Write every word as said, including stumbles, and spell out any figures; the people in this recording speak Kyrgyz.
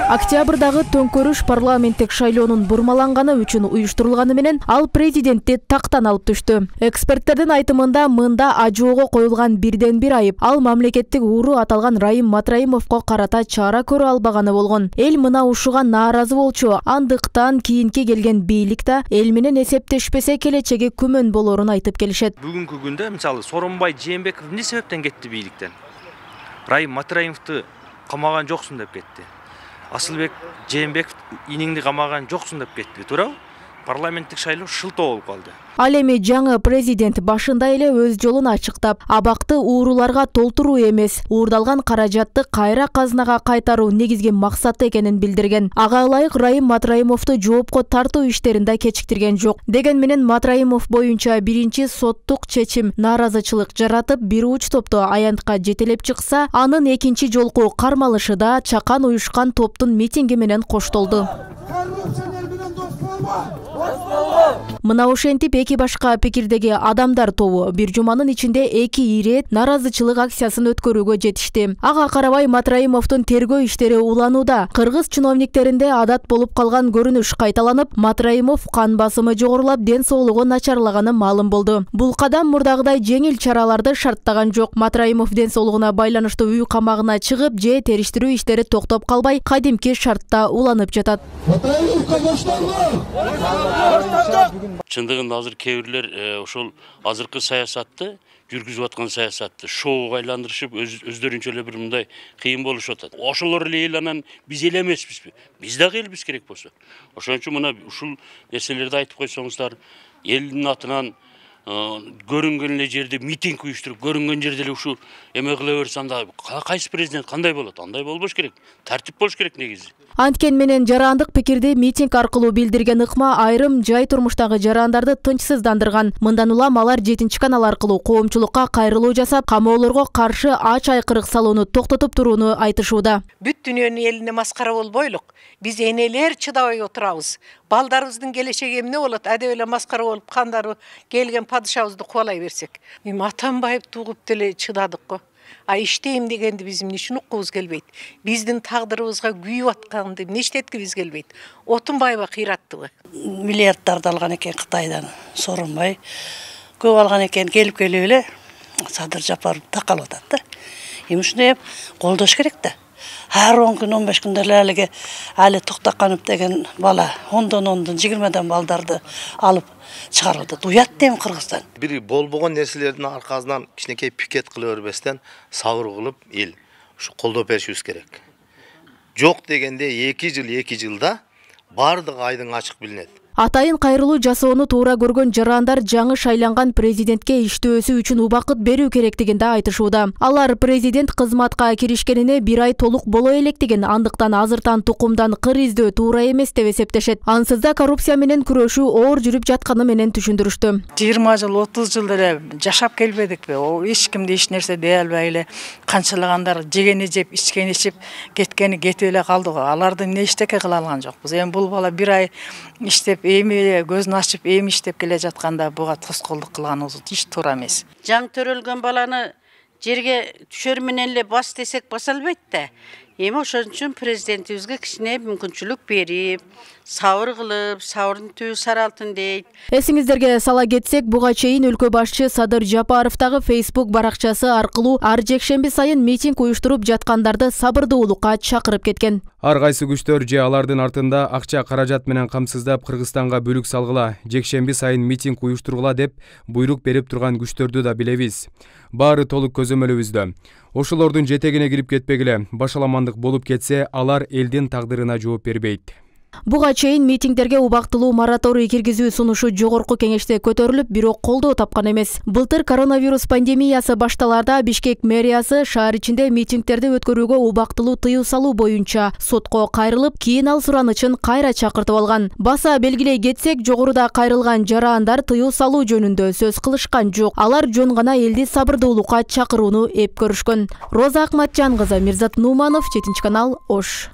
Октябрдагы төңкөрүш парламенттик шайлоонун бурмаланганы үчүн уюштурулганы менен ал президентти тактан алып түштү. Эксперттердин айтымында мында ажоого коюлган бирден бир айып ал мамлекеттик ууру аталган Райым Матраимовго карата чара көрө албаганы болгон. Эл мына ушуга нааразы болчу. Андыктан кийинки келген бийлик да эл менен эсептешпесе келечеги күмөн болорун айтып келишет. Бүгүнкү күндө мисалы Сооронбай Жээнбеков эмне себептен кетти бийликтен? Райым Матраимовду камаган жоксуң деп кетти. Асылбек Жээнбеков иниңди камаган жоксуң деп кетти, туурабы? Парламенттик шайлоо шылтоо болуп калды. Ал эми жаңы президент башында эле өз жолун ачыктап, абакты ууруларга толтуруу эмес, уурдалган каражатты кайра казынага кайтаруу негизги максаты экенин билдирген. Ага ылайык Райым Матраимовду жоопко тартуу иштерин да кечиктирген жок. Деген менен Матраимов боюнча биринчи соттук чечим нааразычылык жаратып, бир уч топту аянтка жетелеп чыкса, анын экинчи жолку кармалышы да чакан уюшкан топтун митинги менен коштолду. Мына ошентип эки башка пикирдеги адамдар тобу бир жуманын ичинде эки ирет нааразычылык акциясын өткөрүүгө жетишти. Ага карабай Матраимовдун тергөө иштери уланууда. Кыргыз чиновниктеринде адат болуп калган көрүнүш кайталанып, Матраимов кан басымы жогорулап, ден соолугу начарлаганы маалым болду. Бул кадам мурдагыдай жеңил чараларды шарттаган жок. Матраимов ден соолугуна байланыштуу үй камагына чыгып, же териштирүү иштери токтоп калбай, кадимки шартта уланып жатат. Чындыгында азыр кээ бирлер ошол азыркы саясатты жүргүзүп аткан саясатты шоуга айландырышып өздөрүнчө эле бир мындай кыйын болушуп атат. Ошолор эле эл анан биз эл эмеспизби? Биз дагы элбиз керек болсо. Ошон үчүн мына ушул нерселерди айтып койсоңуздар, элдин атынан көрүнгөн эле жерде митинг уюштуруп, көрүнгөн жерде эле ушул эме кыла берсе анда кайсы президент кандай болот? Андай болбош керек. Тартип болуш керек негизи. Анткен менен жарандык пикирди митинг аркылуу билдирген ыкма айрым жай турмуштагы жарандарды тынчсыздандырган. Мындан улам алар жетинчи канал аркылуу коомчулукка кайрылуу жасап, камоолорго каршы ач айкырык салууну токтотуп турууну айтышууда. Бүт дүйнөнүн элине маскара болбойлук. Биз энелер чыдабай отурабыз. Балдарыбыздын келечеги эмне болот? Адеп эле маскара болуп кандары келген падышабызды кубалай берсек. Эми Атамбаев тугуп деле чыдадык го. А иштейм дегенди биз эмне үчүн уккубуз келбейт? Биздин тагдырыбызга күйүп атканды эмне иштеткибиз келбейт? Отунбаева кыйраттыбы? Миллиарддарды алган экен Кытайдан, Сооронбай. Көп алган экен, келип келип эле Садыр Жапаров такалып атат да. Эми ушуну колдош керек да. Ар он күн, он беш күндө эле Али Токтоканов деген бала ондон ондон жыйырмадан балдарды алып чыгарып атат. Уят дейм Кыргызстан. Бир болбогон нерселердин аркасынан кичинекей пикет кыла бербестен сабыр кылып эл ушу колдоп беришибиз керек. Жок дегенде эки жыл эки жылда бардык айдың ачык билинет. Атайын кайрылуу жасоону туура көргөн жарандар жаңы шайланган президентке иштөөсү үчүн убакыт берүү керектигин да айтышууда. Алар президент кызматка киришкенине бир ай толук боло электигин, андыктан азыртан тукумдан кыр издөө туура эмес деп эсептешет. Ансыз да коррупция менен күрөшүү оор жүрүп жатканы менен түшүндүрүштү. жыйырма жыл, отуз жыл эле жашап келбедикпи? Эч кимди эч нерсе дей албай эле канчалагандар жегени жеп, ичкени ичип, кеткени кетип эле калды го. Аларды эмне иштеке кыла алган жокпуз. Эми бул бала бир ай иштеп эми көзүн ачып эми иштеп келе жатканда буга тоскоолдук кылганыбыз эч туура эмес. Жаң төрөлгөн баланы жерге түшөр менен эле бас десек баса албайт да. Эми ошон үчүн президентибизге кичине мүмкүнчүлүк берип, сабыр кылып, сабырдын түбү саралтын дейт. Эсиңиздерге сала кетсек, буга чейин өлкө башчы Садыр Жапаровдагы Facebook баракчасы аркылуу ар жекшемби сайын митинг уюштуруп жаткандарды сабырдуулукка чакырып кеткен. Ар кайсы күчтөр же алардын артында акча каражат менен камсыздап Кыргызстанга бүлүк салгыла, жекшемби сайын митинг уюштургула деп буйрук берип турган күчтөрдү да билебиз. Баары толук көзөмөлүбүздө. Ошолордун жетегине кирип кетпегиле, башаламандык болуп кетсе, алар элдин тагдырына жооп бербейт. Буга чейин митингдерге убактылуу мораторий киргизүү сунушу жогорку кеңеште көтөрүлүп, бирок колдоо тапкан эмес. Былтыр коронавирус пандемиясы башталарда Бишкек мэриясы шаар ичинде митингдерди өткөрүүгө убактылуу тыюу салуу боюнча сотко кайрылып, кийин ал суранычын кайра чакыртып алган. Баса белгилей кетсек, жогоруда кайрылган жарандар тыюу салуу жөнүндө сөз кылышкан жок. Алар жөн гана элди сабырдуулукка чакырууну эп көрүшкөн. Роза Акматжан кызы, Мирзат Нуманов, жетинчи канал, Ош.